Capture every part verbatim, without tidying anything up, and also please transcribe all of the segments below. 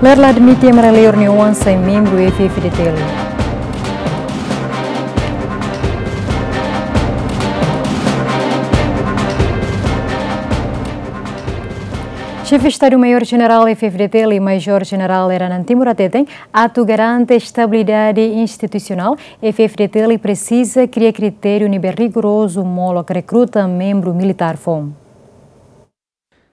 Ler la admite ema rua liur nia oan sai membru F F D T L. Xefe Estadu Maiór Jenerál F F D T L, Majór Jenerál Leranan Timur hateten, atu garante estabilidade institusionál, F F D T L presiza kria kritériu ne'ebé rigorozu molok rekruta membru militár foun.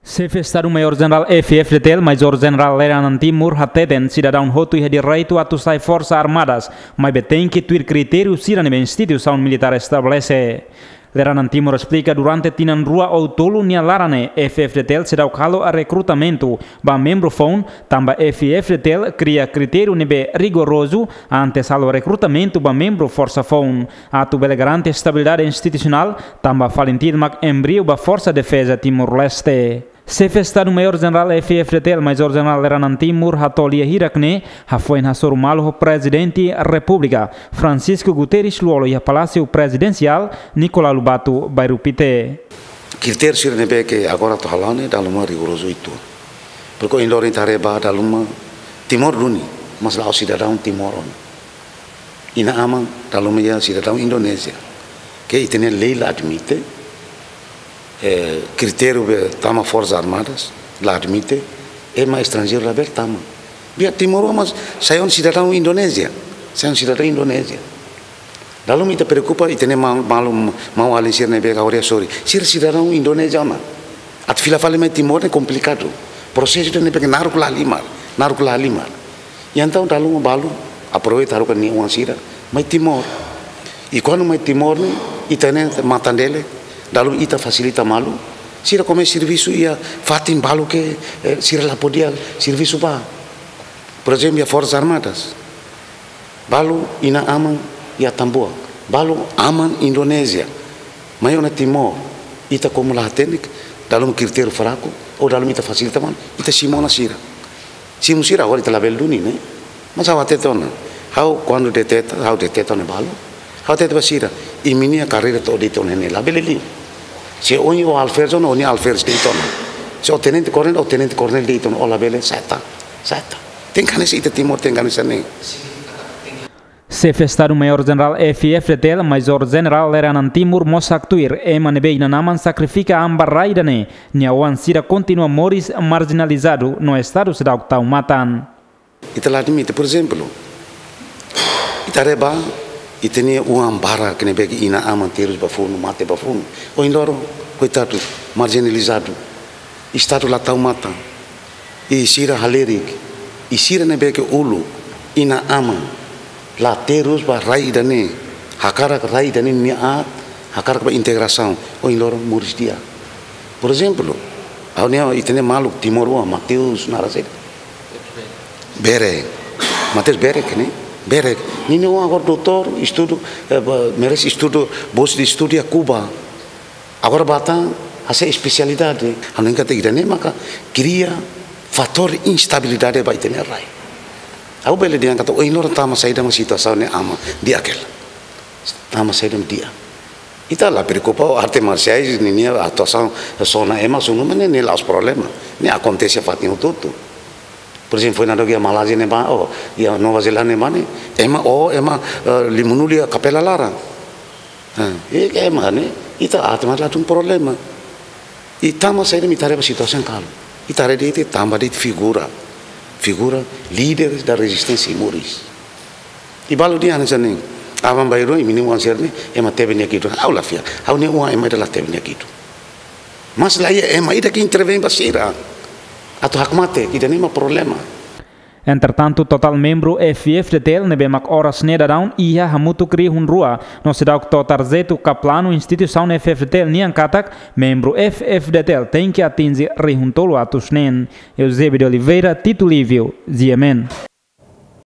Xefe Estadu Maiór Jenerál F F D T L, Majór Jenerál Leranan Timur hateten, sidadaun hotu iha direitu atu sai Forsas Armadas, maibé tenke tuir kritériu sira ne'ebé instituisaun militár estabelese. Leranan Timur esplika durante tinan rua ou tolu nia laran ne'e F F D T L seidauk halo rekrutamentu ba membru foun, tanba F F D T L kria kritériu ne'ebé rigorozu antes halo rekrutamentu ba membru forsa foun, atu bele garante estabilidade institusionál, tanba FALINTIL mak embriu ba Forsa Defeza Timor-Leste. Xefe Estadu Maiór Jenerál F F D T L, Majór Jenerál Leranan Timur hato'o lia hirak ne'e hafoin hasoru malu ho Prezidente Repúblika, Francisco Guterres Lú-Olo iha Palásiu Prezidensiál, Nicolau Lobato, Bairru Pité. Kritériu sira ne'ebé ke agora atu hala'o ne'e dala ruma rigorozu uitoan. Porke ohin loron ita haree ba dala ruma Timor duni, mas la'ós sidadaun Timor ona. Inan-aman dala ruma iha sidadaun Indonézia. Ke ita-nia lei la admite, eh, kritériu be tama Forsas Armadas, la admite, ema estranjeiru labele tama. Biar timoroan mas sai ona sidadaun Indonézia, sai ona sidadaun Indonézia. Dala ruma ita preokupa, ita-nia ma-, malu, maun-alin sira ne'ebé agora hasoru. Sira sidadaun Indonézia ona. Atu fila fali mai Timor ne'e komplikadu. Prosesu ida ne'ebé ke naruk la halimar, naruk la halimar. I entaun dala ruma balu aproveita haruka nia oan sira mai Timor. I kuandu mai Timor ne'e, ita-nia matan-delek, dala ruma ita fasilita malu. Sira komesa servisu iha fatin balu ke, eh, sira la podia servisu ba. Por ezemplu, iha Forsas Armadas. Balu inan-aman iha Tambuak. Balu aman Indonézia. Mai ona Timor. Ita komu la hatene, dala ruma kritériu fraku, ou dala ruma ita fasilita malu, ita simu ona sira. Simu sira, agora ita labele duni, ne'e? Mas ha'u hatete ona. Ha'u kuandu deteta, ha'u deteta ona balu. Ha'u hatete ba sira, imi-nia karreira to'o de'it ona ne'e, labele liu. Se ohin ó alferes ona, ó-nia alferes de'it ona. Se ó tenente koronél, ó tenente koronél de'it ona, ó labele, seta, seta. Tenke hanesan ita Timor, tenke hanesan ne'e. Xefe Estadu Maiór Jenerál F F D T L, Majór Jenerál Leranan Timur mós haktuir, ema ne'ebé inan-aman sakrifika an ba rai ida-ne'e, nia oan sira kontinua moris marjinalizadu no Estadu seidauk tau matan. Ita la admite, por ezemplu, ita haree ba, ita-nia oan barak ne'ebé ke inan-aman terus ba funu, mate ba funu. Ohin loron, koitadu, marjinalizadu. Estadu la tau matan. I sira halerik, i sira ne'ebé ke uluk, inan-aman, la terus ba rai ida-ne'e, hakarak rai ida-ne'e nia aat, hakarak ba integrasaun, ohin loron moris di'ak. Por ezemplu, ha'u-nia, ita-nia maluk timoroan, Mateus naran saida? Bere. Mateus Bere ke ne'e? Bere. Ninia oan agora doutór, estudu, eh, ba, merese estudu, bolsa de estudu iha Kuba. Agora bá tan, hasai espesialidade. Ha'u hanoin katak ida-ne'e maka kria fatór instabilidade ba ita-nia rai. Ha'u bele dehan katak ohin loron tama saida mak situasaun ne'e aman di'ak hela. Tama saida mak di'ak. Ita la preokupa ho arte marsiais ninia atuasaun, sona ema sunu, mas ne'e, ne'e la'ós problema. Ne'e akontese fatin hotu-hotu. Por ezemplu, foin daudauk iha Malázia ne'ebá, ou iha Nova Zelándia ne'ebá ne'e, ema, ou ema, eh, limanulu iha kapela laran. Eh, i ke ema ne'e, ita arte mas la tun problema. I tama saida mak ita haree ba situasaun kalu. Ita haree de'it, ita tanba de'it figura. Figura líderes da rezisténsia moris. I balu dehan hanesan ne'e, aban-bainrua imi-nia oan sira-ne'e, ema tebe nia kidu. Ha'u la fiar. Ha'u-nia oan ema ida la tebe nia kidu. Mas la iha ema ida ke intervein ba sira. Atu hakmatek, ida-ne'e mak problema. Entretantu, totál membru F F D T L ne'ebé mak oras ne'e daudaun iha hamutuk rihun rua, no seidauk to'o tarjetu ka planu instituisaun F F D T L nian katak membru F F D T L tenke atinje rihun tolu atus neen. Eusébio de Oliveira, Tito Lívio, G M N.